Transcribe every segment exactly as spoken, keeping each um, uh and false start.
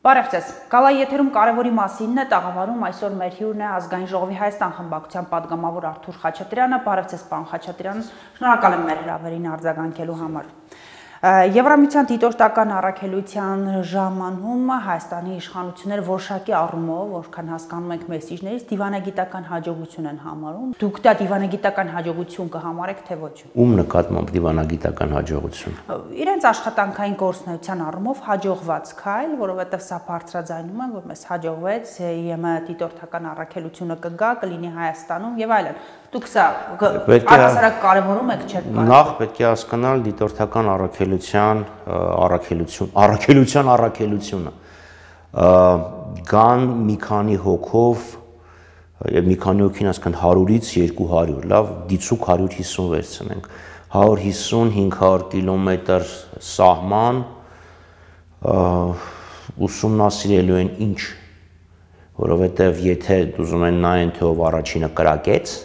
Բարև ձեզ, Գալայի եթերում կարևորի մասինն է տաղավարում այսօր մեր հյուրն է Ազգային ժողովի Հայաստան խմբակցության падգամավոր Արթուր Խաչատրյանը, բարև ձեզ պարոն Խաչատրյան, շնորհակալ եմ մեր հրավերին արձագանքելու համար։ Եվրամիության դիտորդական առաքելության ժամանում Հայաստանի իշխանությունները որոշակի առումով, որքան հասկանում ենք մեսիջներից, դիվանագիտական հաջողություն են համարում։ Դուք դա դիվանագիտական հաջողություն կհամարեք, թե ոչ։ Ում նկատմամբ դիվանագիտական հաջողություն։ Իրենց աշխատանքային գործունեության առումով հաջողված քայլ, որովհետև սա բարձրաձայնում է, որ մեզ հաջողվեց ԵՄ դիտորդական առաքելությունը կգա, կլինի Հայաստանում եւ այլն։ Դուք սա առհասարակ կարևորում եք, չէ՞։ Նախ պետք է հասկանալ դիտորդական առաքելության առաքելություն, առաքելության առաքելությունը։ Կան մի քանի հոգով եւ մի քանի հոգին ասկան հարյուրից երկու հարյուր, լավ, դիցուկ հարյուր հիսուն վերցնենք։ հարյուր հիսուն հինգ հարյուր կիլոմետր սահման ուսումնասիրելու են ինչ, որովհետեւ եթե ուզում են նայեն թե ով առաջինը կրակեց,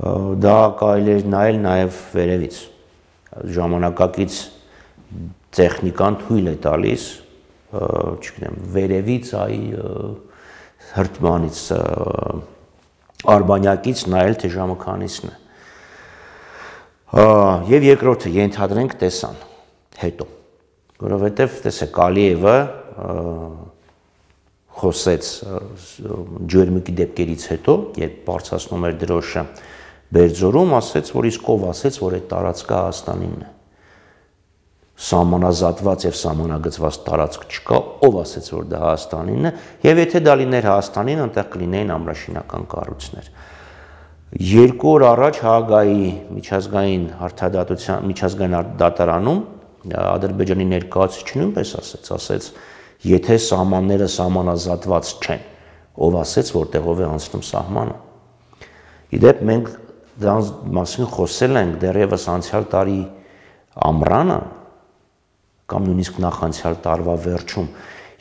դա կարելի է նայել նաև վերևից, ժամանակակից տեխնիկան թույլ է տալիս, չգիտեմ, վերևից այ հրթմանից, արբանյակից նայել թե ժամը քանիսն է։ Եվ երկրորդը ենթադրենք տեսան հետո, որովհետև տեսեք Ալիևը խոսեց ջերմուկի դեպքերից հետո, երբ բարձրացնում էր դրոշը Բերձորում, ասեց, որ իսկ ով ասեց, որ այդ տարածքը Հայաստանինն է։ Սահմանազատված եւ սահմանագծված տարածք չկա, ով ասեց, որ դա Հայաստանինն է, եւ եթե դա լիներ Հայաստանին, այնտեղ կլինեին ամրաշինական կառույցներ։ Երկու օր առաջ Հաագայի միջազգային արդարադատության միջազգային դատարանում Ադրբեջանի ներկայացուցիչը նույնպես ասեց, ասեց, եթե սահմանները սահմանազատված չեն, ով ասեց, որտեղով է անցնում սահմանը։ Իդեպ մենք դրանց մասին խոսել ենք դեռևս անցյալ տարի ամռանը կամ նույնիսկ նախանցյալ տարվա վերջում,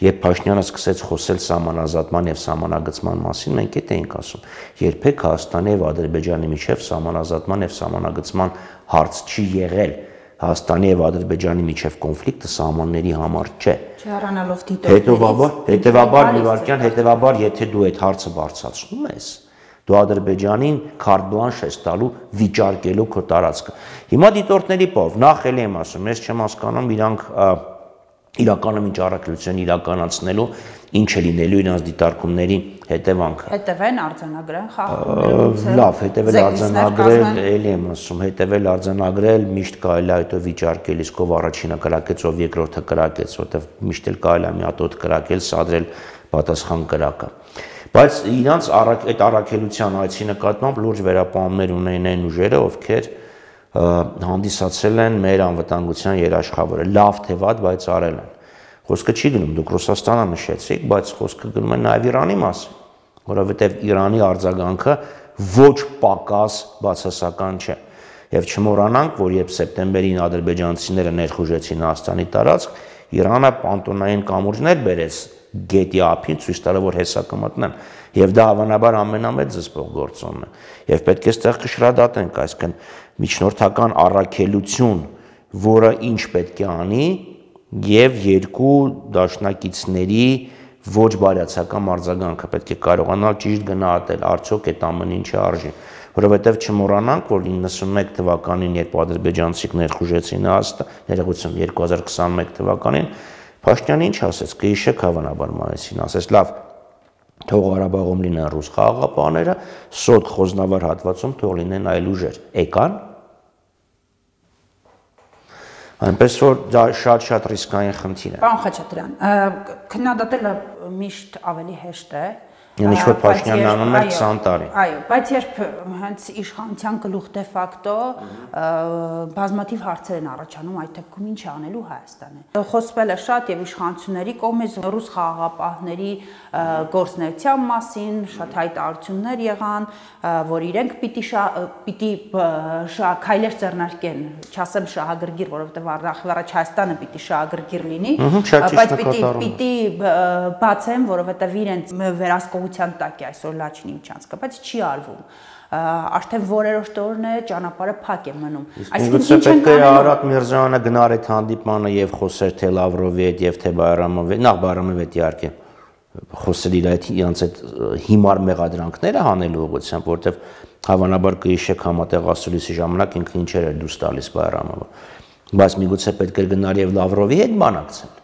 երբ Փաշինյանը սկսեց խոսել սահմանազատման եւ սահմանագծման մասին, մենք էդ էինք ասում, երբեք Հայաստանի եւ Ադրբեջանի միջեւ սահմանազատման եւ սահմանագծման հարց չի եղել։ Հայաստանի եւ Ադրբեջանի միջև կոնֆլիկտը սահմանների համար չէ։ Չհեռանալով դիտորդներից։ Հետևաբար, հետևաբար Նիվարքյան, հետևաբար, եթե դու այդ հարցը բարձրացնում ես, դու Ադրբեջանին կարտ բլանշ ես տալու վիճարկելու քո տարածքը։ Հիմա դիտորդների պով, նախ էլի եմ ասում, ես չեմ հասկանում իրանք իրականում ինչ առաքելություն իրականացնելու, ինչ է լինելու իրանց դիտարկումների հետևանքը։ Հետևեն արձանագրեն խախտումներից։ Լավ, հետևել արձանագրել, էլի եմ ասում, հետևել արձանագրել, միշտ կարելի է հետո վիճարկել, իսկ ով առաջինը կրակեց, ով երկրորդը կրակեց, որտեղ միշտ էլ կարելի է մի հատ օդ կրակել, սադրել պատասխան կրակը։ Բայց իրանց այդ առաքելության այցի նկատմամբ լուրջ վերապահումներ ունեն այն ուժերը, ովքեր հանդիսացել են մեր անվտանգության երաշխավորը, լավ թե վատ, բայց արել են։ Խոսքը չի գնում, դուք Ռուսաստանը նշեցիք, բայց խոսքը գնում է նաև Իրանի մասին, որովհետև Իրանի արձագանքը ոչ պակաս բացասական չէ։ Եվ չմոռանանք, որ երբ սեպտեմբերին ադրբեջանցիները ներխուժեցին Հայաստանի տարածք, Իրանը պանտոնային կամուրջներ բերեց գետի ափին, ցույց տալով, որ հեսա կմտնեն, եւ դա հավանաբար ամենամեծ զսպող գործոնն է։ Եվ պետք է այստեղ կշռադատենք, այսինքն միջնորդական առաքելություն, որը ինչ պետք է անի, եւ երկու դաշնակիցների ոչ բարյացակամ արձագանքը պետք է կարողանալ ճիշտ գնահատել, արդյոք այդ ամեն ինչը արժի, որովհետեւ չմոռանանք, որ իննսունմեկ թվականին, երբ ադրբեջանցիք ներխուժեցին Հայաստան, ներողություն, երկու հազար քսաներկու թվականին, Փաշինյանը ինչ ասեց, կհիշեք հավանաբար մայիսին, ասեց, լավ, թող Ղարաբաղում լինեն ռուս խաղաղապահները, սոտ խոզնավար հատվածում թող լինեն այլ ուժեր, եկան։ Այնպես որ դա շատ-շատ ռիսկային խնդիր է։ Պարոն Խաչատրյան, քննադատելը միշտ ավելի հեշտ է։ Ինչ-որ Փաշինյանն անում էր քսան տարի։ Այո, բայց երբ հենց իշխանության գլուխ դե ֆակտո բազմաթիվ հարցեր են առաջանում, այդ դեպքում ինչ անելու Հայաստանը։ Խոսվել է շատ եւ իշխանությունների կողմից ռուս խաղաղապահների գործունեության մասին, շատ հայտարարություններ եղան, որ իրենք պիտի պիտի քայլեր ձեռնարկեն, չասեմ շահագրգիռ, որովհետեւ առաջ Հայաստանը պիտի շահագրգիռ լինի, բայց պիտի պիտի բացեն, որովհետեւ իրենց վերահսկողության տակ է այսօր Լաչինի միջանցքը, բայց չի արվում։ արդեն որերորդ օրն է ճանապարհը փակ է մնում։ Այսինքն պետք է Արարատ Միրզոյանը գնար այդ հանդիպանը եւ խոսեր թե Լավրովի հետ եւ թե Բայրամովի, նախ Բայրամովի հետ իհարկե խոսել իր այդ իրancs այդ հիմար մեղադրանքները հանելու ուղղությամբ, որովհետեւ հավանաբար կհիշեք համատեղասուլիսի ժամանակ ինքը ինչեր էր դուրս տալիս Բայրամովը, բայց միգուցե պետք է գնար եւ Լավրովի հետ բանակցել։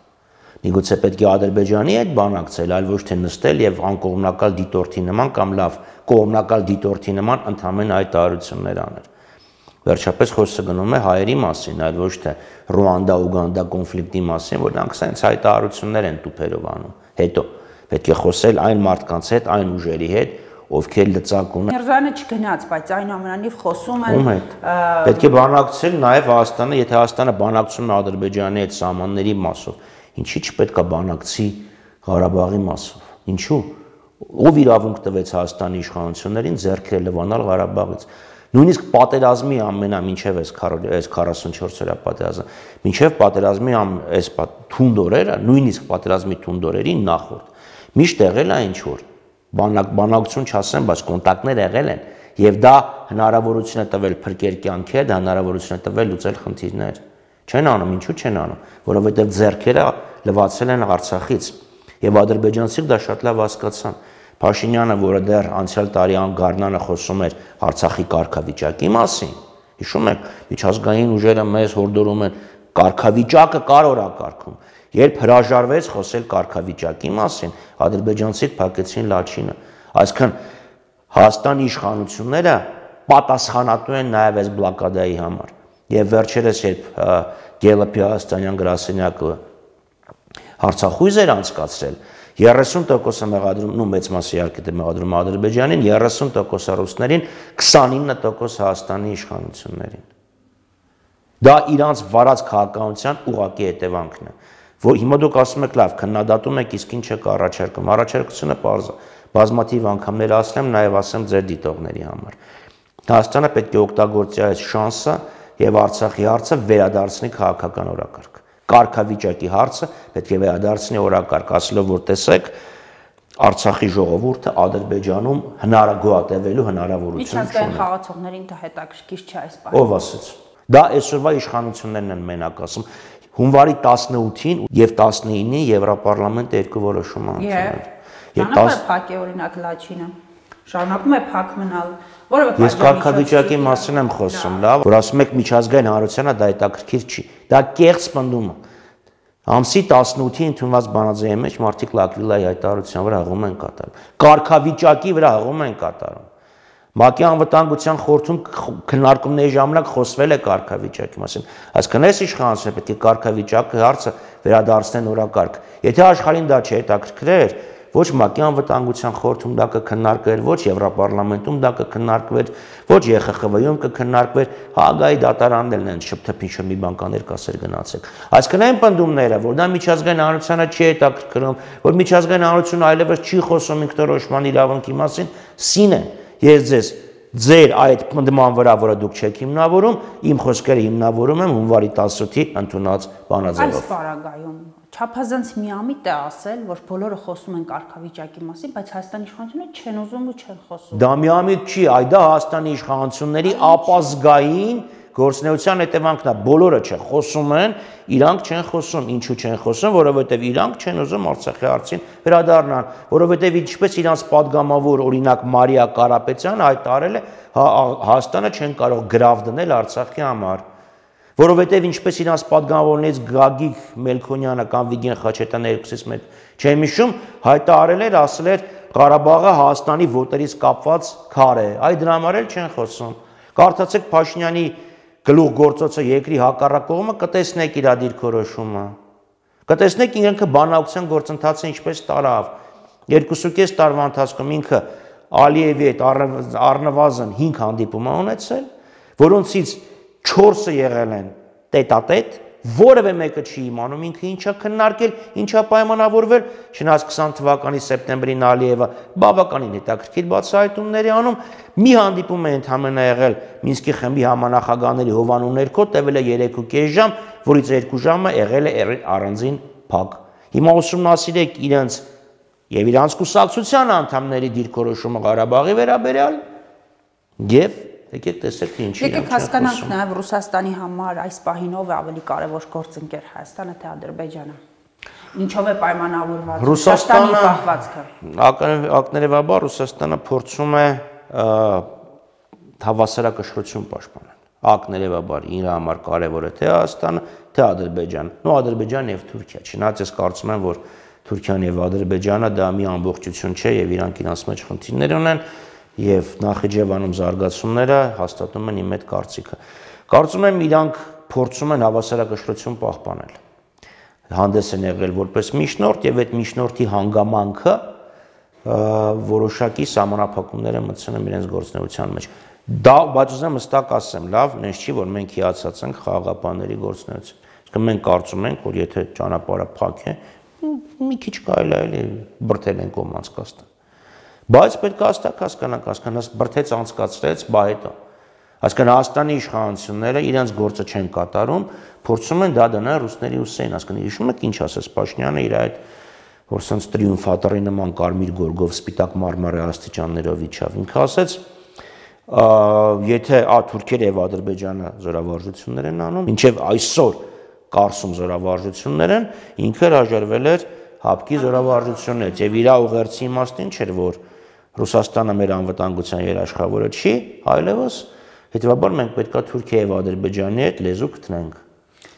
Միգուցե պետք է Ադրբեջանի հետ բանակցել, այլ ոչ թե նստել եւ անկողմնակալ դիտորդի նման կամ լավ կողմնակալ դիտորդի նման ընդհանրեն հայտարարություններ անել։ Վերջապես խոսքը գնում է հայերի մասին, այլ ոչ թե Ռուանդա-Ուգանդա կոնֆլիկտի մասին, որ նրանք սենց հայտարարություններ են տուփերով անում։ Հետո պետք է խոսել այն մարդկանց հետ, այն ուժերի հետ, ովքեր լծակում են։ Միրզոյանը չգնաց, բայց այնուամենայնիվ խոսում են։ Ում հետ։ Պետք է բանակցել նաև Հայաստանը, եթե Հայաստանը բանակցում է Ադրբեջանի հետ սահմանների մասով, ինչի՞ չպետք է բանակցի Ղարաբաղի մասով։ Ինչու՞։ Ով իրավունք տվեց Հայաստանի իշխանություններին ձեռքերը լվանալ Ղարաբաղից։ Նույնիսկ պատերազմի ամենա մինչև այս քառասունչորս օրյա պատերազմը, մինչև պատերազմի այս թունդ օրերը, նույնիսկ պատերազմի թունդ օրերին նախորդ միշտ եղել է ինչ որ բանակ բանակցություն չասեմ, բայց կոնտակտներ եղել են եւ դա հնարավորություն է տվել փրկել կյանքեր, դա հնարավորություն է տվել լուծել խնդիրներ։ Չեն անում, ինչու չեն անում, որովհետեւ ձեռքերը լվացել են Արցախից եւ ադրբեջանցիք դա շատ լավ հասկացան։ Փաշինյանը, որը դեռ անցյալ տարի անգարնանը խոսում էր Արցախի կարգավիճակի մասին, հիշում եք, միջազգային ուժերը մեզ հորդորում են կարգավիճակը կար օրակարգում։ Երբ հրաժարվեց խոսել կարգավիճակի մասին, ադրբեջանցիք փակեցին լաչինը։ Այսինքն Հայաստանի իշխանությունները պատասխանատու են նաև այս բլոկադայի համար։ Եվ վերջերս երբ Գելլոպի հայաստանյան գրասենյակը հարցախույզ էր անցկացրել, երեսուն տոկոսը մեղադրում, նու մեծ մասը իհարկե դե մեղադրում Ադրբեջանին, երեսուն տոկոս ռուսներին, քսանինը տոկոս Հայաստանի իշխանություններին։ Դա իրանց վարած քաղաքականության ուղղակի հետևանքն է, որ հիմա դուք ասում եք լավ, քննադատում եք, իսկ ինչ եք առաջարկում։ Առաջարկությունը պարզ է, բազմաթիվ անգամներ ասել եմ, նաև ասեմ ձեր դիտողների համար։ Հայաստանը պետք է օգտագործի այս շանսը եւ Արցախի հարցը վերադարձնի քաղաքական օրակարգ։ Կարգավիճակի հարցը պետք է վերադարձնի օրակարգ, ասելով որ տեսեք Արցախի ժողովուրդը Ադրբեջանում հնարագոհատևելու հնարավորություն չունի։ Միջազգային խաղացողներին դա հետաքրքիր չէ այս բանը։ Ով ասեց։ Դա այսօրվա իշխանություններն են մենակ ասում։ Հունվարի տասնութին եւ տասնինին Եվրոպարլամենտը երկու որոշում անցնել։ Եվ փակ է օրինակ լաչինը։ Շարունակում է փակ մնալ, որովհետեւ ես կարգավիճակի մասին եմ խոսում, լավ, որ ասում եք միջազգային հանրությանը դա հետաքրքիր չի։ Դա կեղծ պնդում է։ Ամսի տասնութին ընդունված բանաձեւի մեջ մարդիկ Լակվիլայի հայտարարության վրա հղում են կատարում։ Կարգավիճակի վրա հղում են կատարում։ ՄԱԿ-ի անվտանգության խորհրդում քննարկումների ժամանակ խոսվել է կարգավիճակի մասին։ Այսինքն այս իշխանությունը պետք է կարգավիճակի հարցը վերադարձնեն օրակարգ։ Եթե աշխարհին դա չհետաքրքրեր, ոչ ՄԱԿ-ի անվտանգության խորհրդում դա կքննարկվեր, ոչ Եվրոպարլամենտում դա կքննարկվեր, ոչ Ե Խ Խ V-ում կքննարկվեր, Հաագայի դատարաններն են շփթփին շո մի բան կաներկասեր գնացեք։ Այսինքն այն պնդումները, որ դա միջազգային հանրությանը չի հետաքրքրում, որ միջազգային հանրությունը այլևս չի խոսում ինքնորոշման իրավունքի մասին, սին են։ Ես ձեզ ձեր այդ պնդման վրա, որը դուք չեք հիմնավորում, իմ խոսքերը հիմնավորում եմ հունվարի տասնութի ընդունած բանաձևով։ Այս պարագայում չափազանց միամիտ է ասել, որ բոլորը խոսում են կարգավիճակի մասին, բայց Հայաստանի իշխանությունները չեն ուզում ու չեն խոսում։ Դա միամիտ չի, այ դա Հայաստանի իշխանությունների ապազգային գործնեության հետևանքն է, բոլորը չէ, խոսում են, իրանք չեն խոսում, ինչու չեն խոսում, որովհետև իրանք չեն ուզում Արցախի հարցին վերադառնալ, որովհետև ինչպես իրանց падգամավոր օրինակ Մարիա Կարապետյանը հայտարարել է, Հայաստանը չեն կարող գրավ դնել Արցախի համար, որովհետև ինչպես իրանց падգամավորներից Գագիկ Մելքոնյանը կամ Վիգեն Խաչատյանը երկուսից մեկ չեմ հիշում, հայտարարել էր, ասել էր Ղարաբաղը Հայաստանի ոտերից կապված քար է, այ դրա համար էլ չեն խոսում։ Կարդացեք Փաշինյանի գլուխ գործոցը երկրի հակառակ կողմը, կտեսնեք իր դիրքորոշումը։ Կտեսնեք ինքը բանակցության գործընթացը ինչպես տարավ։ Երկուսուկես տարվա ընթացքում ինքը Ալիևի հետ առնվազն հինգ հանդիպում է ունեցել, որոնցից չորսը եղել են տետատետ, որևէ մեկը չի իմանում ինքը ինչա քննարկել, ինչա պայմանավորվել, չնայած քսան թվականի սեպտեմբերին Ալիևը բավականին հետաքրքիր բացահայտումներ է անում, մի հանդիպում է ընդհանրապես եղել Մինսկի խմբի համանախագահների Հովանու ներքո, տևել է երեքուկես ժամ, որից երկու ժամը եղել է առանձին փակ։ Հիմա ուսումնասիրեք իրենց եւ իրանց կուսակցության անդամների դիրքորոշումը Ղարաբաղի վերաբերյալ, Եվ եկեք տեսեք թե ինչի։ Եկեք հասկանանք նաև Ռուսաստանի համար այս պահին ով է ավելի կարևոր գործընկեր, Հայաստանը թե Ադրբեջանը։ Ինչով է պայմանավորված Ռուսաստանի պահվածքը։ Ակներևաբար Ռուսաստանը փորձում է հավասարակշռություն պաշտպանել։ Ակներևաբար իր համար կարևոր է թե Հայաստանը, թե Ադրբեջանը։ Նո Ադրբեջանը եւ Թուրքիա։ Չնայած ես կարծում եմ, որ Թուրքիան եւ Ադրբեջանը դա մի ամբողջություն չէ եւ իրանք իրancs մեջ խնդիրներ ունեն եւ Նախիջևանում զարգացումները հաստատում են իմ այդ կարծիքը։ Կարծում եմ իրանք փորձում են հավասարակշռություն պահպանել։ Հանդես են եղել որպես միջնորդ եւ այդ միջնորդի հանգամանքը որոշակի սահմանափակումներ են մտցնում իրենց գործունեության մեջ։ Դա բայց ուզեմ հստակ ասեմ, լավ, նենց չի, որ մենք հիացած ենք խաղաղապահների գործունեություն։ Իսկ մենք կարծում ենք, որ եթե ճանապարհը փակ է, մի քիչ կարելի է էլի բրթել են կողմից կաստան։ Բայց պետք է հստակ հասկանանք, հասկանաս բրթեց անցկացրեց, բա հետո։ Այսինքն Հայաստանի իշխանությունները իրենց գործը չեն կատարում, փորձում են դա դնել ռուսների ուսերին, այսինքն հիշում եք ինչ ասաց Փաշինյանը իր այդ որ սենց տրիումֆատորի նման կարմիր գորգով սպիտակ մարմարի աստիճաններով իջավ։ Ինքը ասաց, եթե ա Թուրքիա եւ Ադրբեջանը զորավարժություններ են անում, ինչեւ այսօր Կարսում զորավարժություններ են, ինքը հրաժարվել էր հապկի զորավարժություններից եւ իր ուղերձի իմաստին չէր, որ Ռուսաստանը մեր անվտանգության երաշխավորը չի, այլևս հետեւաբար մենք պետքա Թուրքիա եւ Ադրբեջանի հետ լեզու գտնենք։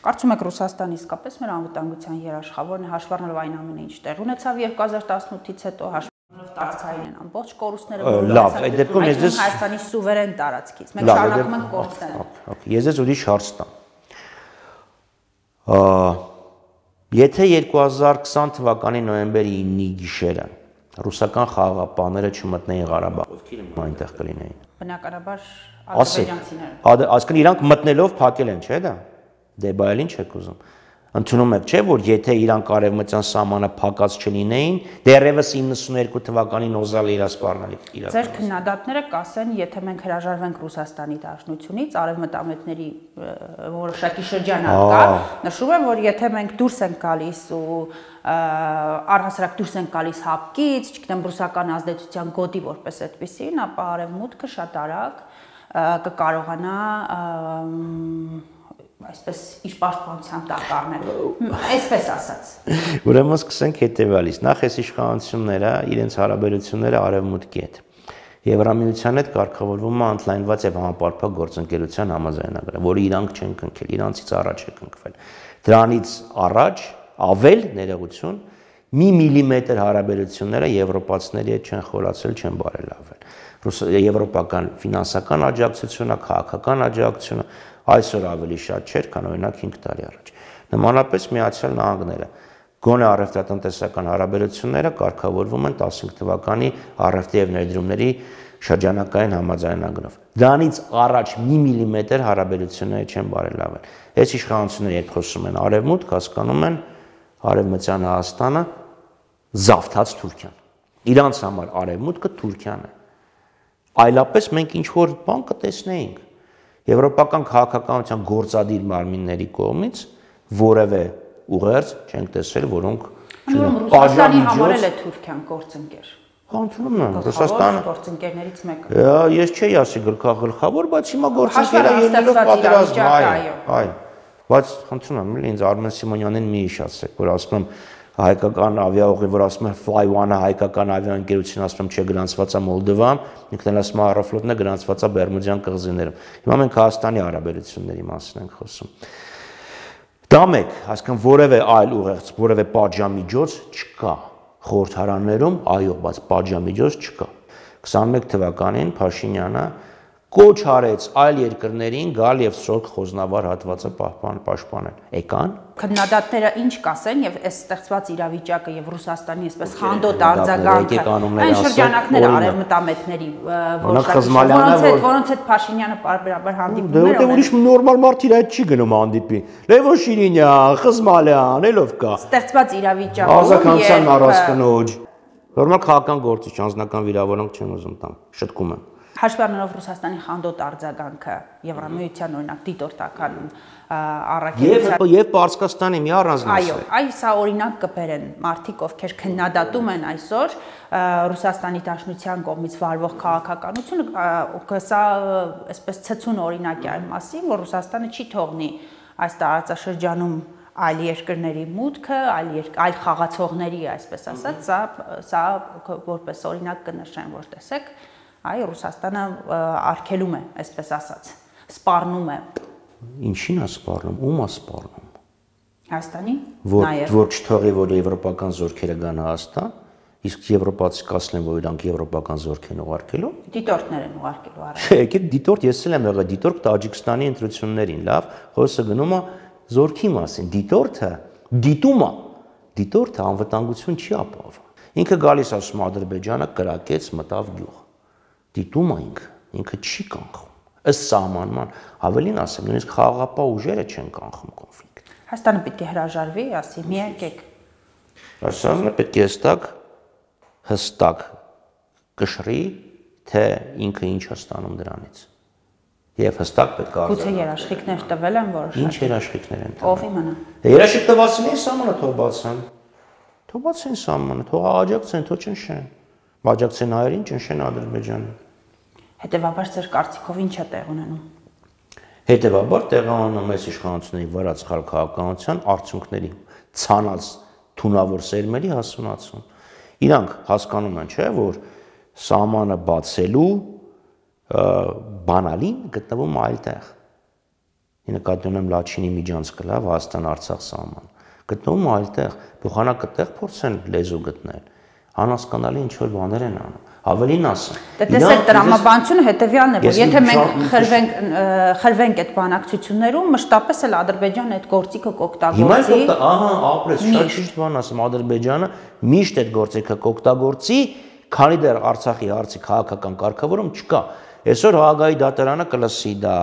Կարծում եք Ռուսաստանը իսկապես մեր անվտանգության երաշխավորն է, հաշվառնելով այն ամենը, ինչ տեղ ունեցավ երկու հազար տասնութից հետո, հաշվառնելով տարածքային են ամբողջ կորուստները, լավ, այդ դեպքում ես ձեզ Հայաստանի սուվերեն տարածքից։ Մենք շարունակում ենք կորցնել։ Ես ձեզ ուրիշ հարց տամ։ Եթե երկու հազար կիսան թվականի նոյեմբերի իննի գիշերը ռուսական խաղաղապահները չմտնեին Ղարաբաղ, ովքեր այնտեղ կլինեին։ Բնականաբար ադրբեջանցիները։ Այսինքն իրանք մտնելով փակել են, չէ՞ դա։ Դե բայ էլ ինչ եք ուզում։ Ընդունում եք, չէ՞, որ եթե իրանք արևմտյան սահմանը փակած չլինեին, դեռևս իննսունհերկու թվականին օզալ իրասպառնալիք իրական։ Ձեր քննադատները կասեն, եթե մենք հրաժարվենք Ռուսաստանի դաշնությունից, արևմտամետների որոշակի շրջանակ կա, նշում եմ, որ եթե մենք դուրս ենք գալիս ու առհասարակ դուրս ենք գալիս հապկից, չգիտեմ, ռուսական ազդեցության գոտի որպես այդպեսին, ապա արևմուտքը շատ արագ կկարողանա այսպես իր պաշտպանության տակ առնել, այսպես ասած։ Ուրեմն սկսենք հետևյալից, նախ այս իշխանությունները իրենց հարաբերությունները արևմուտքի հետ Եվրամիության հետ կարգավորվում է ընդլայնված եւ համապարփակ գործընկերության համաձայնագրը, որը իրանք չեն կնքել, իրանցից առաջ է կնքվել։ Դրանից առաջ ավել ներողություն մի միլիմետր հարաբերությունները եվրոպացիների հետ չեն խորացել, չեն բարելավել։ Եվրոպական ֆինանսական աջակցությունը, քաղաքական աջակցությունը այսօր ավելի շատ չէր, քան օրինակ հինգ տարի առաջ։ Նմանապես Միացյալ Նահանգները գոնե առևտրատնտեսական հարաբերությունները կարգավորվում են տասնհինգ թվականի առևտրի եւ ներդրումների շրջանակային համաձայնագրով։ Դրանից առաջ մի միլիմետր հարաբերությունները չեն բարելավել։ Այս իշխանությունները երբ խոսում են արևմուտք, հասկանում են արևմտյան Հայաստանը զավթած Թուրքիան։ Իրանց համար արևմուտքը Թուրքիան է։ Այլապես մենք ինչ որ բան կտեսնեինք եվրոպական քաղաքականության գործադիր մարմինների կողմից որևէ ուղերձ չենք տեսել, որոնք Ռուսաստանի համար էլ է Թուրքիան գործընկեր։ Ընդունում եմ, Ռուսաստանը գործընկերներից մեկը։ Ես չէի ասի գլխավոր, բայց հիմա գործընկերը ելնելով պատերազմ, այ, բայց ընդունում եմ, ինձ Արմեն Սիմոնյանին մի հիշացրեք, որ ասում եմ հայկական ավիաուղի, որ ասում է Fly One-ը հայկական ավիաընկերություն, ասում եմ, չէ, գրանցված է Մոլդովայում, ինքն էլ ասում է Aeroflot-ն է գրանցված է Բերմուդյան կղզիներում։ Հիմա մենք Հայաստանի հարաբերությունների մասին ենք խոսում։ Դա մեկ, այսինքն որևէ այլ ուղերձ, որևէ պատժամիջոց չկա խորհրդարաններում, այո, բայց պատժամիջոց չկա։ քսանմեկ թվականին Փաշինյանը կոչ արեց այլ երկրներին գալ եւ սորկ խոզնավար հատվածը պաշտպանել։ Եկան։ Քննադատները ինչ կասեն եւ այս ստեղծված իրավիճակը եւ Ռուսաստանի այսպես խանդոտ արձագանքը այն շրջանակները արևմտամետների որոնց հետ որոնց հետ Փաշինյանը պարբերաբար հանդիպում էր։ Դե ուրիշ նորմալ մարդ իր հետ չի գնում հանդիպի։ Լևոն Շիրինյան, Խզմալյան, ելով կա։ Ստեղծված իրավիճակում ազգականության առասկնոջ նորմալ քաղաքական գործիչ անձնական վիրավորանք չեմ ուզում տամ, շտկում եմ։ Հաշվի առնելով Ռուսաստանի խանդոտ արձագանքը Եվրամիության օրինակ դիտորդական առաքելության եւ Պարսկաստանի մի առանձնացը։ Այո, այ սա օրինակ կբերեն մարդիկ, ովքեր քննադատում են այսօր Ռուսաստանի Դաշնության կողմից վարվող քաղաքականությունը, սա այսպես ցցուն օրինակ է այն մասին, որ Ռուսաստանը չի թողնի այս տարածաշրջանում այլ երկրների մուտքը, այլ այլ խաղացողների, այսպես ասած, սա սա որպես օրինակ կնշեն, որ տեսեք, այ Ռուսաստանը արգելում է, այսպես ասած, սպառնում է։ Ինչին է սպառնում, ում է սպառնում։ Հայաստանի, նաև որ չթողի, որ եվրոպական զորքերը գան Հայաստան, իսկ եվրոպացի կասնեն, որ իրանք եվրոպական զորք են ուղարկելու։ Դիտորդներ են ուղարկելու առայժմ։ Չէ, եկեք դիտորդ, ես էլ եմ եղել դիտորդ Տաջիկստանի ընտրություններին, լավ, խոսքը գնում է զորքի մասին, դիտորդը, դիտումը, դիտորդը անվտանգություն չի ապահովում։ Ինքը գալիս ասում Ադրբեջանը կրակեց, մտավ գյուղ։ Դիտումը ինքը, ինքը չի կանխում։ Ըստ սահմանման, ավելին ասեմ, նույնիսկ խաղաղապահ ուժերը չեն կանխում կոնֆլիկտ։ Հայաստանը պետք է հրաժարվի, ասի, մի եկեք։ Հայաստանը պետք է հստակ հստակ կշռի, թե ինքը ինչ է ստանում դրանից։ Եվ հստակ պետք է Գուցե երաշխիքներ տվել են որոշակի։ Ինչ երաշխիքներ են տվել։ Ով իմանա։ Երաշխիք տվածին են սահմանը թող բացեն։ Թող բացեն սահմանը, թող աջակցեն, թող ճնշեն։ Աջակցեն հայերին, ճնշեն Ադրբեջանին։ Հետևաբար ձեր կարծիքով ինչ է տեղ ունենում։ Հետևաբար տեղի ունենում այս իշխանությունների վրա սխալ քաղաքականության արդյունքների ցանած թունավոր սերմերի հասունացում։ Իրանք հասկանում են, չէ, որ սահմանը բացելու բանալին գտնվում այլտեղ։ Նկատի ունեմ Լաչինի միջանցքը, լավ, Հայաստան-Արցախ սահման։ Գտնվում այլտեղ, փոխանակը տեղ փորձեն լեզու գտնել։ Անհասկանալի ինչ որ բաներ են անում։ Ավելին ասեմ։ Դե տեսեք, տրամաբանությունը հետևյալն է, որ եթե մենք խրվենք խրվենք այդ բանակցություններում, մշտապես էլ Ադրբեջանը այդ գործիքը կօգտագործի։ Հիմա ահա, ապրես, շատ ճիշտ բան ասեմ, Ադրբեջանը միշտ այդ գործիքը կօգտագործի, քանի դեռ Արցախի հարցի քաղաքական կարգավորում չկա։ Այսօր Հաագայի դատարանը կլսի դա,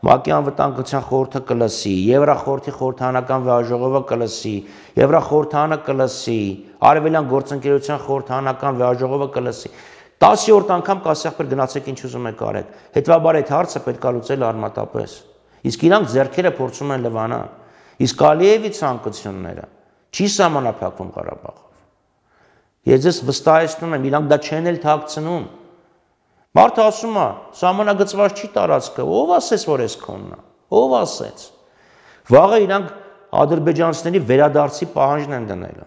ՄԱԿ-ի անվտանգության խորհուրդը կլսի, Եվրախորհրդի խորհրդանական վեհաժողովը կլսի, Եվրախորհրդանը կլսի, Արևելյան գործընկերության խորհրդանական վեհաժողովը կլսի։ տասը-որդ անգամ կասեղբեր գնացեք ինչ ուզում եք արեք։ Հետևաբար այդ հարցը պետք է լուծել արմատապես։ Իսկ իրանք ձեռքերը փորձում են լվանալ։ Իսկ Ալիևի ցանկությունները չի սահմանափակվում Ղարաբաղով։ Ես ձեզ վստահեցնում եմ, իրանք դա չեն էլ թաքցնում։ Մարդը ասում է, սահմանագծված չի տարածքը, ով ասեց, որ էս քոնն է, ով ասեց։ Վաղը իրանք ադրբեջանցիների վերադարձի պահանջն են դնել։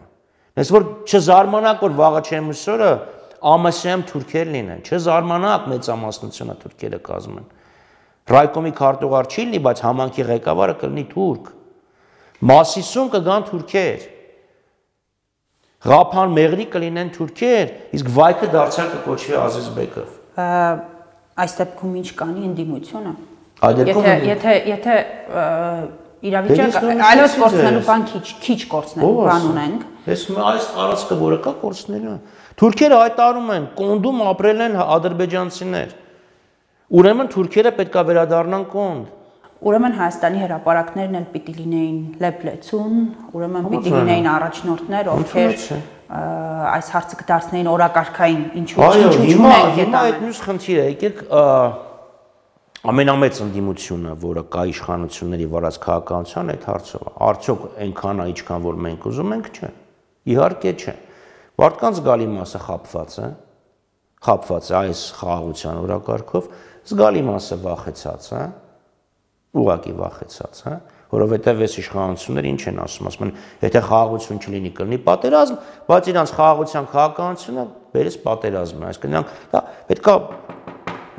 Ես որ չզարմանաք, որ վաղը չեմ ուսորը ԱՄՍ-ում թուրքեր լինեն, չզարմանաք մեծամասնությունը թուրքերը կազմեն։ Ռայկոմի քարտուղար չի լինի, բայց համանքի ղեկավարը կլինի թուրք։ Մասիսում կգան թուրքեր։ Ղափան մեղրի կլինեն թուրքեր, իսկ վայքը դարձյալ կկոչվի Ազիզբեկով։ Այս դեպքում ինչ կանի ընդդիմությունը։ Եթե եթե եթե իրավիճակը այլոց կորցնելու բան քիչ քիչ կորցնելու բան ունենք։ Ես այս տարածքը որը կա կորցնելու։ Թուրքերը հայտարարում են, կոնդում ապրել են ադրբեջանցիներ։ Ուրեմն թուրքերը պետքա վերադառնան կոնդ։ Ուրեմն Հայաստանի հրապարակներն էլ պիտի լինեին լեփլեցուն, ուրեմն պիտի լինեին առաջնորդներ, ովքեր այս հարցը կդարձնեին օրակարգային, ինչու ինչու չունենք հետո։ Հիմա այդ մյուս խնդիրը, եկեք ամենամեծ ընդդիմությունը, որը կա իշխանությունների վարած քաղաքականության այդ հարցով, արդյոք այնքան է, ինչքան որ մենք ուզում ենք, չէ։ Իհարկե չէ։ Մարդկանց զգալի մասը խաբված է, խաբված է այս խաղաղության օրակարգով, զգալի մասը վախեցած է, ուղղակի վախեցած է, որովհետև այս իշխանությունները ինչ են ասում, ասում են, եթե խաղաղություն չլինի, կլինի պատերազմ, բայց իրանց խաղաղության քաղաքականությունը բերես պատերազմն է, այսինքն իրանք դա պետքա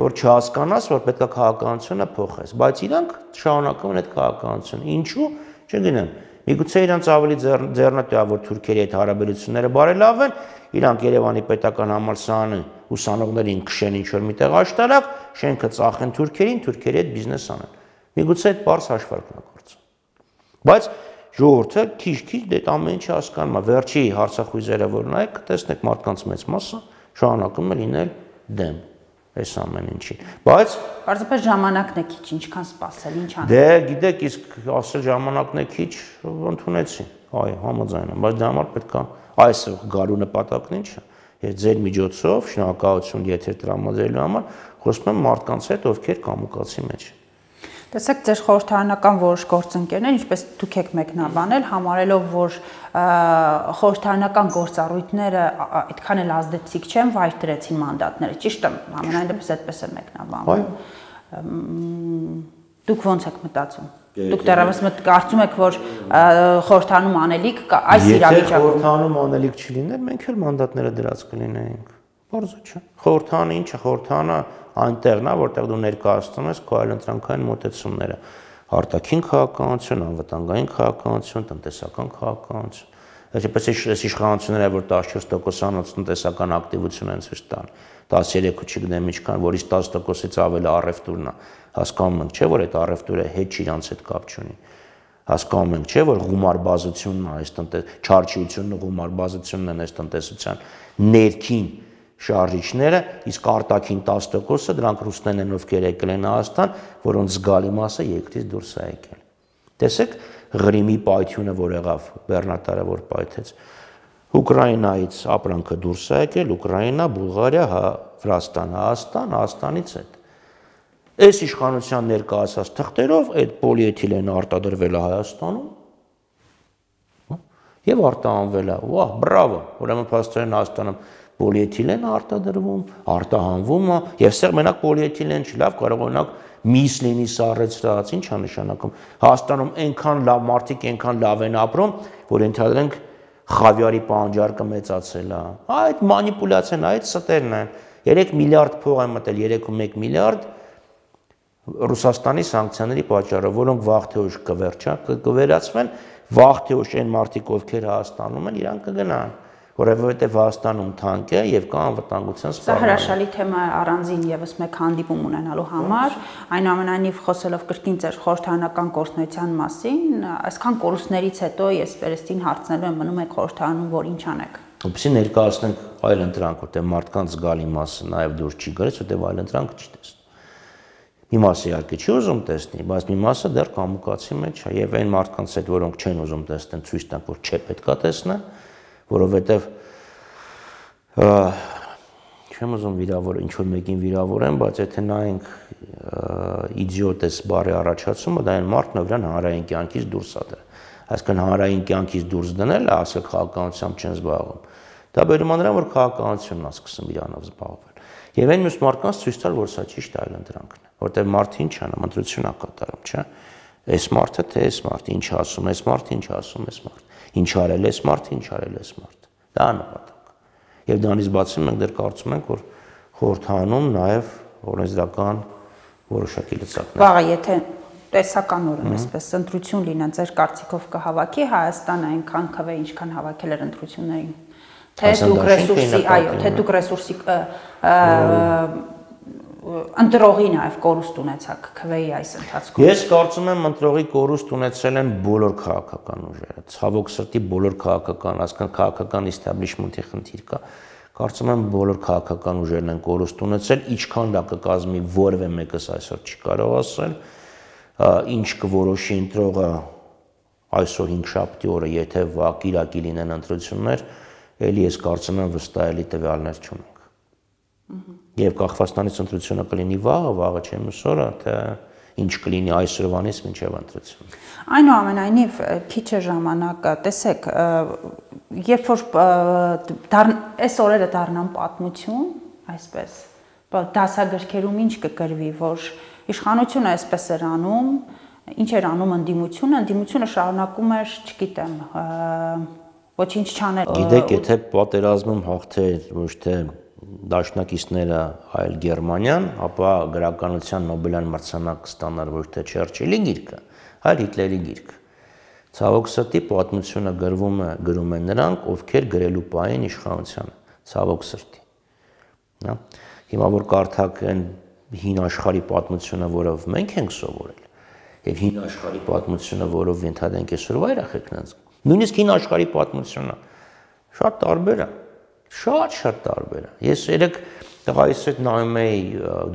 որ չհասկանաս, որ պետքա քաղաքականությունը փոխես, բայց իրանք շարունակում են այդ քաղաքականությունը։ Ինչու՞, չգիտեմ։ Միգուցե իրանց ավելի ձեռնտու է, որ թուրքերի հետ հարաբերությունները բարելավեն, իրանք Երևանի պետական համալսարանի ուսանողներին քշեն ինչ-որ միտեղ աշտարակ, շենքը ծախեն թուրքերին, թուրքերի հետ բիզնես անեն։ Միգուցե այդ բարձ հաշվարկն է գործում։ Բայց ժողովուրդը քիչ-քիչ դե ամեն ինչ հասկանում է, վերջի հարցախույզերը որ նայեք, կտեսնեք մարդկանց մեծ մասը շարունակում է լինել դեմ այս ամեն ինչին։ Բայց պարզապես ժամանակն է քիչ, ինչքան սպասել, ինչ անել։ Դե գիտեք, իսկ ասել ժամանակն է քիչ, ընդունեցին։ Այո, համաձայն եմ, բայց դա համար պետք է այս գարու նպատակն ինչ է։ Ես ձեր միջոցով շնորհակալություն եթեր տրամադրելու համար խոսում եմ մարդկանց հետ, ովքեր կամուկացի մեջ են։ Տեսեք, ձեր խորհրդարանական որոշ գործընկերներ, ինչպես դուք եք մեկնաբանել, համարելով, որ խորհրդարանական գործառույթները այդքան էլ ազդեցիկ չեն, վայր դրեցին մանդատները, ճիշտ է, ամենայն դեպս այդպես է մեկնաբանվում։ Դուք ո՞նց եք մտածում։ Դուք դեռևս կարծում եք, որ խորհրդանում անելիք կա այս իրավիճակում։ Եթե խորհրդանում անելիք չլիներ, մենք էլ մանդատները դրած կլինեինք։ Բարձր չէ։ Խորհրդանը ինչ է, խորհրդանը այնտեղն է, որտեղ դու ներկայացնում ես քո այլընտրանքային մոտեցումները, արտաքին քաղաքականություն, անվտանգային քաղաքականություն, տնտեսական քաղաքականություն։ Այսպես այս իշխանությունները, որ տասնչորս տոկոսանոց տնտեսական ակտիվություն են ցույց տան, տասներեք չգիտեմ ինչքան, որից տասը տոկոսից ավել առևտուրն է, հասկանում ենք, չէ՞ որ այդ առևտուրը հետ իրանց հետ կապ չունի։ Հասկանում ենք, չէ՞ որ գումարբազությունն է այս տնտես, չարչիությունն ու գումարբազությունն են այս տնտեսության ներքին շարժիչները, իսկ արտաքին տասը տոկոսը դրանք ռուսներն են, ովքեր եկել են Հայաստան, որոնց զգալի մասը երկրից դուրս է եկել։ Տեսեք Ղրիմի պայթյունը, որ եղավ, Բեռնատարը որ պայթեց, Ուկրաինայից ապրանքը դուրս է եկել, Ուկրաինա, Բուլղարիա, Վրաստան, Հայաստան, Հայաստանից հետ։ Այս իշխանության ներկայացած թղթերով այդ պոլիէթիլենը արտադրվել է Հայաստանում եւ արտահանվել է։ Վահ, բրավո, ուրեմն փաստորեն Հայաստանում պոլիէթիլեն արտադրվում, արտահանվում է, եւ սեղ մենակ պոլիէթիլեն չի, լավ կարող օրինակ միս լինի սառեցրած, ինչ է նշանակում։ Հայաստանում այնքան լավ մարդիկ, այնքան լավ են ապրում, որ ընդհանրենք խավիարի պահանջարկը մեծացել է։ Այդ մանիպուլյացիան, այդ ստերն են։ երեք միլիարդ փող են մտել, երեք կόμma մեկ միլիարդ Ռուսաստանի սանկցիաների պատճառով, որոնք վաղ թե ուշ կվերջա, կվերացվեն, վաղ թե ուշ այն մարդիկ, ովքեր Հայաստանում են, իրանք կգնան, որովհետև Հայաստանում թանկ է եւ կա անվտանգության սպառնալիք։ Սա հրաշալի թեմա է առանձին եւս մեկ հանդիպում ունենալու համար, այնուամենայնիվ խոսելով կրկին ձեր խորհրդարանական գործունեության մասին, այսքան կորուստներից հետո ես վերստին հարցնելու եմ, մնում եք խորհրդարանում, որ ինչ անեք։ Որպեսզի ներկայացնենք այլ ընտրանք, որտեղ մարդկանց զգալի մասը նաեւ դուրս չի գալիս, որտեղ այլ ընտրանք չի տեսնում։ Մի մասը իհարկե չի ուզում տեսնի, բայց մի մասը դեռ կամուկացի մեջ է եւ այն մարդկանց հետ, որոնք չեն ուզում տեսնել, ցույց տան, որ չէ պետքա տեսնեն, որովհետեւ չեմ ուզում վիրավոր ինչ որ մեկին վիրավորեմ, բայց եթե նայենք իդիոտ էս բառի առաջացումը, դա այն մարդն է, որն հանրային կյանքից դուրս է դրել։ Այսինքն հանրային կյանքից դուրս դնելը, ասել քաղաքականությամբ չեն զբաղվում։ Դա բերում է նրան, որ քաղաքականությունն է սկսում իրանով զբաղվել։ Եվ այն մյուս մարդկանց ցույց տալ, որ սա ճիշտ այլընտրանքն է, որտեղ մարդը ինչ անում, ընտրություն է կատարում, չէ՞։ Այս մարդը թե այս մարդը ինչ ասում, այս մարդը ինչ ասում, այս մարդը ինչ արել, այս մարդը ինչ արել, այս մարդը։ Դա է նպատակը։ Եվ դրանից բացի մենք դեռ կարծում ենք, որ խորհրդանում նաև օրենսդրական որոշակի լծակներ։ Վաղը եթե տեսականորեն այսպես ընտրություն լինեն, ձեր կարծիքով կհավաքի Հայաստանը այնքան քվե, ինչքան հավաքել էր ընտրություններին։ Թե դուք ռեսուրսի, այո, թե դուք ռեսուրսի ընտրողի նաև կորուստ ունեցաք քվեի այս ընթացքում։ Ես կարծում եմ ընտրողի կորուստ ունեցել են բոլոր քաղաքական ուժերը, ցավոք սրտի բոլոր քաղաքական, ասկան քաղաքական իստաբլիշմենթի խնդիր կա։ Կարծում եմ բոլոր քաղաքական ուժերն են կորուստ ունեցել, ինչքան դա կկազմի որևէ մեկս այսօր չի կարող ասել, ինչ կորոշի ընտրողը այսօր հինգշաբթի օրը, եթե վաղ կիրակի լինեն ընտրություններ, էլի ես կարծում եմ վստահելի տվյալներ չունենք։ Եվ Կախվաստանից ընտրությունը կլինի վաղը, վաղը չէ մյուս օրը, թե ինչ կլինի այսօրվանից մինչև ընտրություն։ Այնուամենայնիվ քիչ է ժամանակը, տեսեք, երբ որ այս օրերը դառնան պատմություն, այսպես, դասագրքերում ինչ կգրվի, որ իշխանությունը այսպես էր անում, ինչ էր անում ընդդիմությունը, ընդդիմությունը շարունակում էր, չգիտեմ, ոչինչ չանել։ Գիտեք, եթե պատերազմում հաղթեր ոչ թե դաշնակիցները, այլ Գերմանիան, ապա գրականության Նոբելյան մրցանակ կստանար ոչ թե Չերչիլի գիրքը, այլ Հիտլերի գիրքը։ Ցավոք սրտի պատմությունը գրվում է, գրում են նրանք, ովքեր գրելու պահին իշխանությանը, ցավոք սրտի։ Հա։ Հիմա որ կարդակ այն հին աշխարհի պատմությունը, որով մենք ենք սովորել, եւ հին աշխարհի պատմությունը, որով ընդհանրենք այսօր վայրախ եք նենց։ Նույնիսկ հին աշխարհի պատմությունը շատ տարբեր է, շատ-շատ տարբեր է։ Ես երեք տղայիս հետ նայում էի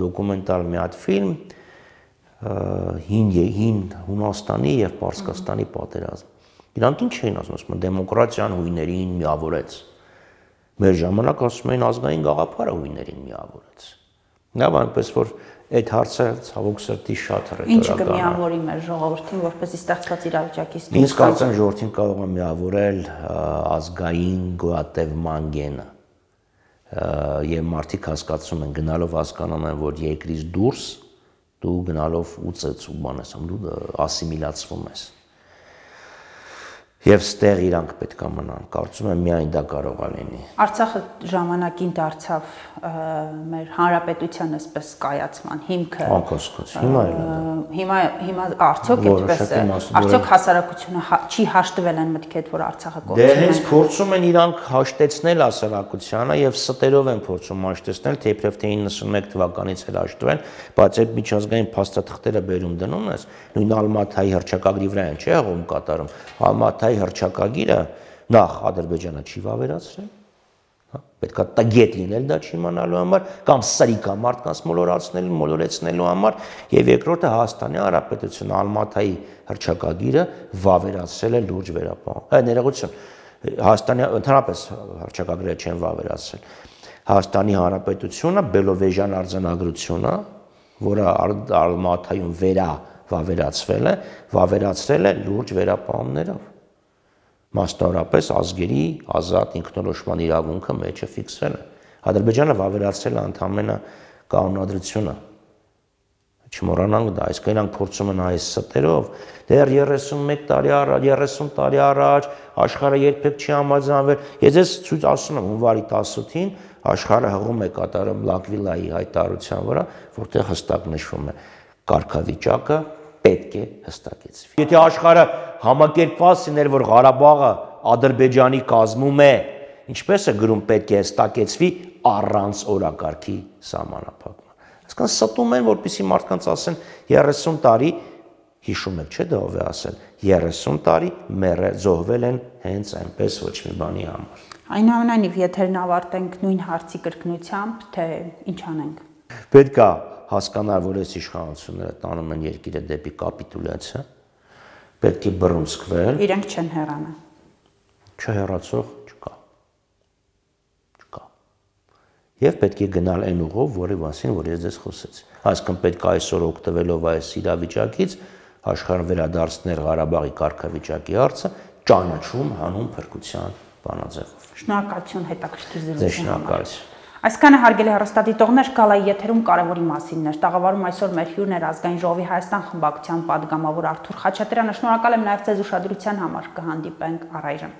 դոկումենտալ մի հատ ֆիլմ հին հին Հունաստանի եւ Պարսկաստանի պատերազմ։ Իրանք ինչ էին ասում, ասում դեմոկրատիան հույներին միավորեց։ Մեր ժամանակ ասում էին ազգային գաղափարը հույներին միավորեց։ Լավ, այնպես որ այդ հարցը ցավոք սրտի շատ հռետորական է։ Ինչ կմիավորի մեր ժողովրդին, որպեսզի ստեղծված իրավիճակից դուրս գա։ Ինձ կարծեմ ժողովրդին կարող է միավորել ազգային գոյատևման գենը։ Եվ մարդիկ հասկացում են, գնալով հասկանում են, որ երկրից դուրս դու գնալով ուծես ու բան ես, դու ասիմիլացվում ես։ Եվ ստեղ իրանք պետք է մնան, կարծում եմ միայն դա կարող է լինի։ Արցախը ժամանակին դարձավ մեր հանրապետության այսպես կայացման հիմքը։ Անկասկած, հիմա էլ է։ Հիմա հիմա արդյոք այդպես է։ Արդյոք հասարակությունը չի հաշտվել այն մտքի հետ, որ Արցախը կորցնում է։ Դե հենց փորձում են իրանք հաշտեցնել հասարակությանը եւ ստերով են փորձում հաշտեցնել, թեև թե իննսունմեկ թվականից էլ հաշտվել, բայց այդ միջազգային փաստաթղթերը բերում դնում ես, նույն Ալմաթայի հռչակագրի վրա են, չէ՞ հողում կատարում։ Ալմաթայի հռչակագիրը նախ Ադրբեջանը չի վավերացրել, հա, պետք է տգետ լինել դա չիմանալու համար կամ սրիկա մարդկանց մոլորացնելու, մոլորեցնելու համար, եւ երկրորդը Հայաստանի Հանրապետությունը Ալմաթայի հռչակագիրը վավերացրել է լուրջ վերապահում։ Հա, ներողություն, Հայաստանի ընդհանրապես հռչակագրերը չեն վավերացրել։ Հայաստանի Հանրապետությունը Բելովեժյան արձանագրությունը, որը Ալմաթայում վերա վավերացվել է, վավերացրել է լուրջ վերապահումներով։ Մասնավորապես ազգերի ազատ ինքնորոշման իրավունքը մեջը ֆիքսվել է։ Ադրբեջանը վավերացրել է ընդամենը կանոնադրությունը։ Չմոռանանք դա, այսինքն իրանք փորձում են այս ստերով, դեռ երեսունմեկ տարի առաջ, երեսուն տարի առաջ աշխարհը երբեք չի համաձայնվել։ Ես ես ցույց ասում եմ հունվարի տասնութին աշխարհը հղում է կատարում Լակվիլայի հայտարարության վրա, որտեղ հստակ նշվում է կարգավիճակը պետք է հստակեցվի։ Եթե աշխարհը համակերպված լիներ, որ Ղարաբաղը Ադրբեջանի կազմում է, ինչպես է գրում պետք է հստակեցվի առանց օրակարգի սահմանափակման։ Այսինքն ստում են, որպեսզի մարդկանց ասեն երեսուն տարի, հիշում եք, չէ՞ դա ով է ասել, երեսուն տարի մերը զոհվել են հենց այնպես ոչ մի բանի համար։ Այնուամենայնիվ, եթերն ավարտենք նույն հարցի կրկնությամբ, թե ինչ անենք։ Պետք է հասկանալ, որ այս իշխանությունները տանում են երկիրը դեպի կապիտուլյացիա, պետք է բռունցքվել։ Իրենք չեն հեռանա։ Չհեռացող չկա։ Չկա։ Եվ պետք է գնալ այն ուղով, որի մասին, որ ես ձեզ խոսեցի։ Այսինքն պետք է այսօր օգտվելով այս իրավիճակից աշխարհը վերադարձնել Ղարաբաղի կարգավիճակի հարցը ճանաչում հանուն փրկության բանաձևով։ Շնորհակալություն հետաքրքիր Ձեզ զրույցի համար։ շնորհակալություն։ Այսքանը հարգելի հեռուստադիտողներ, Գալայի եթերում կարևորի մասին էր։ Տաղավարում այսօր մեր հյուրն էր Ազգային ժողովի Հայաստան խմբակցության պատգամավոր Արթուր Խաչատրյանը։ Շնորհակալ եմ նաև ձեզ ուշադրության համար։ Կհանդիպենք առայժմ։